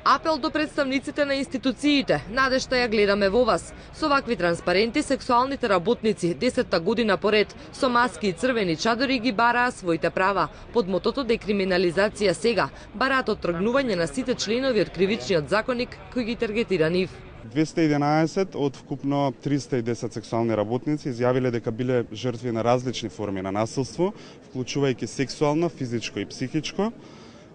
Апел до представниците на институциите, надежта ја гледаме во вас. Со вакви транспаренти сексуалните работници 10-та година поред со маски и црвени чадори ги бараа своите права. Под мотото декриминализација сега бараат оттргнување на сите членови од кривичниот законник кои ги таргетира нив. 211 од вкупно 310 сексуални работници изјавиле дека биле жртви на различни форми на насилство, вклучувајќи сексуално, физичко и психичко.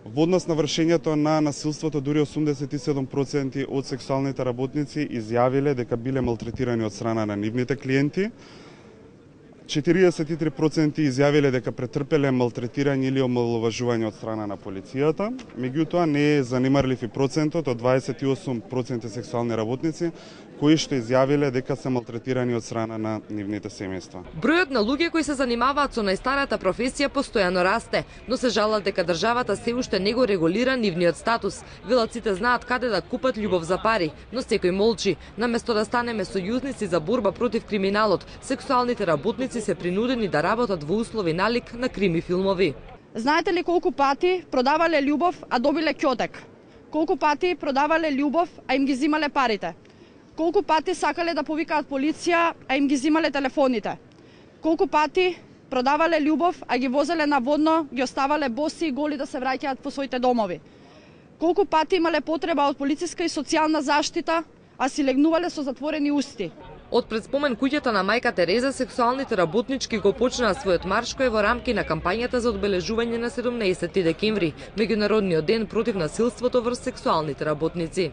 Во однос на вршењето на насилството, дури 87% од сексуалните работници изјавиле дека биле малтретирани од страна на нивните клиенти. 43% изјавиле дека претрпеле малтретирање или омаловажување од страна на полицијата. Меѓутоа не е занимарлив и процентот од 28% сексуални работници кои што изјавиле дека се малтретирани од страна на нивните семејства. Бројот на луѓе кои се занимаваат со најстарата професија постојано расте, но се жалат дека државата се уште не го регулира нивниот статус. Велат сите знаат каде да купат љубов за пари, но секој молчи. Наместо да станеме сојузници за борба против криминалот, сексуалните работници се принудени да работат во услови налик на крими филмови. Знаете ли колку пати продавале љубов, а добиле ќотек? Колку пати продавале љубов, а им ги зимале парите? Колку пати сакале да повикаат полиција, а им ги зимале телефоните? Колку пати продавале љубов, а ги возеле наводно, ги оставале боси и голи да се враќаат по своите домови? Колку пати имале потреба од полициска и социјална заштита, а си легнувале со затворени усти? Од пред спомен куќата на мајка Тереза, сексуалните работнички го почнаа својот марш кој е во рамки на кампањата за одбележување на 17 декември, меѓународниот ден против насилството врз сексуалните работници.